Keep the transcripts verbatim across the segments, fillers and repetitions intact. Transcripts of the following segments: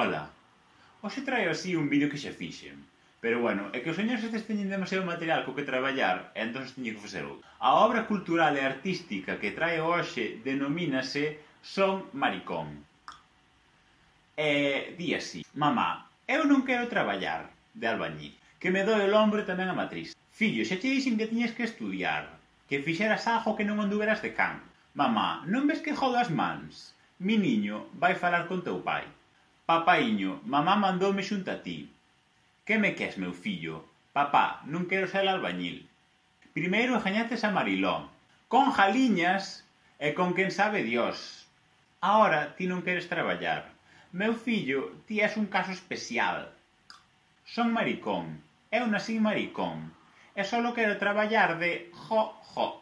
Ola. Hoxe traio así un vídeo que xa fixen. Pero bueno, é que os señores estes teñen demasiado material co que traballar e entón teño que facer outro. A obra cultural e artística que traio hoxe denomínase Son Maricón. E di así: mamá, eu non quero traballar de albañil, que me doi o lombro tamén a matriz. Fillo, xa che dixen que tiñes que estudiar, que fixeras algo que non anduveras de can. Mamá, non ves que jodo as mans? Mi niño vai falar con teu pai. Papaiño, mamá mandoume xunto a ti. Que me ques, meu fillo? Papá, non quero ser albañil. Primeiro gañates a Mariló, con jaliñas e con quen sabe Dios. Ahora ti non queres traballar. Meu fillo, ti és un caso especial. Son maricón, eu nací maricón, e solo quero traballar de jo, jo.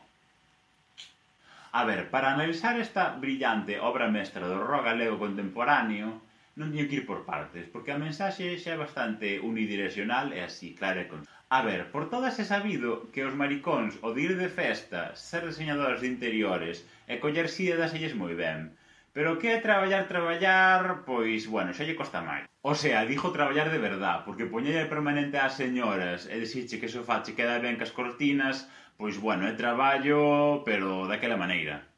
A ver, para analizar esta brillante obra mestra do rock galego contemporáneo, non teño que ir por partes, porque a mensaxe xa é bastante unidireccional e así, claro e con... A ver, por todas é sabido que os maricóns, o de ir de festa, ser diseñadores de interiores e coller síedas elles moi ben. Pero que é traballar, traballar, pois, bueno, xa lle costa máis. O sea, dixo traballar de verdad, porque poñelle permanente ás señoras e dixirche que o sofá che queda ben cas cortinas, pois, bueno, é traballo, pero daquela maneira.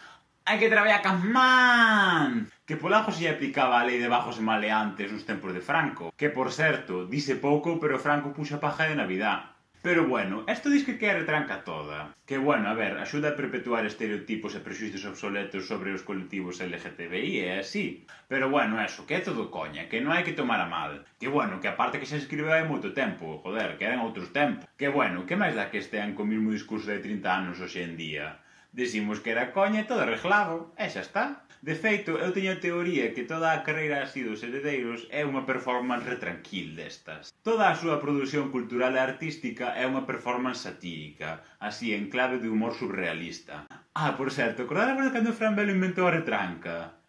Hai que traballar cas man! Que polajo se lle aplicaba a lei de bajos e maleantes nos tempos de Franco. Que, por certo, dise pouco, pero Franco puxo a paja de Navidad. Pero bueno, esto dis que quere tranca toda. Que bueno, a ver, axuda a perpetuar estereotipos e prexuicios obsoletos sobre os colectivos L G T B I e así. Pero bueno, eso, que é todo coña, que non hai que tomar a mal. Que bueno, que aparte que xa se escribeu hai moito tempo, joder, que eran outros tempos. Que bueno, que máis dá que estean co mesmo discurso de trinta anos hoxe en día? Decimos que era coña e todo arreglado, e xa está. De feito, eu teño a teoría que toda a carreira así dos heredeiros é unha performance retranquil destas. Toda a súa produción cultural e artística é unha performance satírica, así en clave de humor surrealista. Ah, por certo, acordades cando Fran Bello inventou a retranca?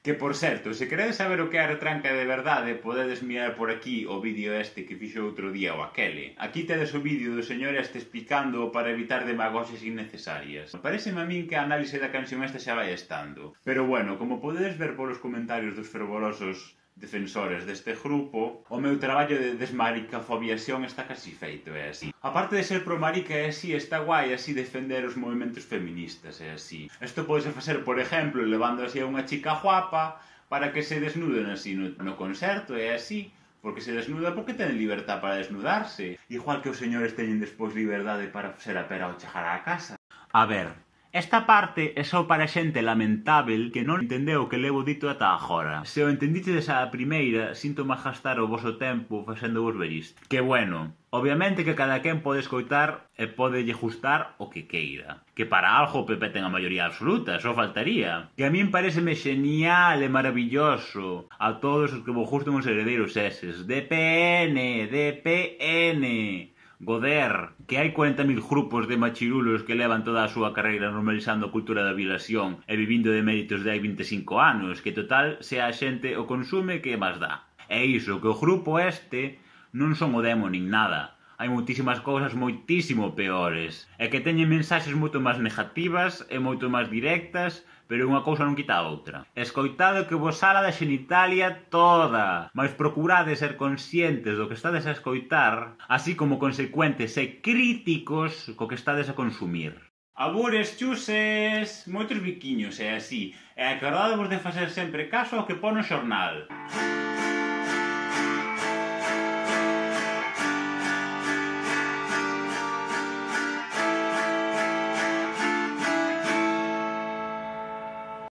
Que, por certo, se queredes saber o que é a retranca de verdade, podedes mirar por aquí o vídeo este que fixo outro día o aquele. Aquí tedes o vídeo do señor este explicando para evitar demagoxias innecesarias. Pareceme a min que a análise da canción esta xa vai estando. Pero bueno, como podedes ver polos comentarios dos fervorosos defensores deste grupo, o meu traballo de desmaricafobiación está casi feito, é así. Aparte de ser pro marica é así, está guai así defender os movimentos feministas, é así. Isto podese facer, por exemplo, levando así a unha chica guapa para que se desnuden así no, no concerto, é así. Porque se desnuda porque ten libertad para desnudarse. Igual que os señores teñen despois liberdade para ser a pera ao chegar á casa. A ver... Esta parte é só para xente lamentável que non entendeu o que levo dito ata agora. Se o entendichedes a primeira, sinto máis gastar o voso tempo facendo vos ver isto. Que bueno, obviamente que cada quen pode escoitar e pode lle gustar o que queira. Que para algo o P P ten a maioría absoluta, só faltaría. Que a min pareceme genial e maravilloso a todos os que vos gusten os heredeiros eses. D P N, D P N... Goder, que hai cuarenta mil grupos de machirulos que levan toda a súa carreira normalizando a cultura da violación e vivindo de méritos de hai vinte e cinco anos, que total, se a xente o consume, que máis dá. É iso, que o grupo este non son o demo nin nada. Hai moitísimas cousas moitísimo peores, e que teñen mensaxes moito máis negativas e moito máis directas, pero unha cousa non quita a outra. Escoitade que vos sala da xenitalia toda, mas procurade ser conscientes do que estades a escoitar, así como consecuentes e críticos co que estades a consumir. Abures, chuses, moitos biquiños, é así, e acordadevos de facer sempre caso ao que pon no xornal.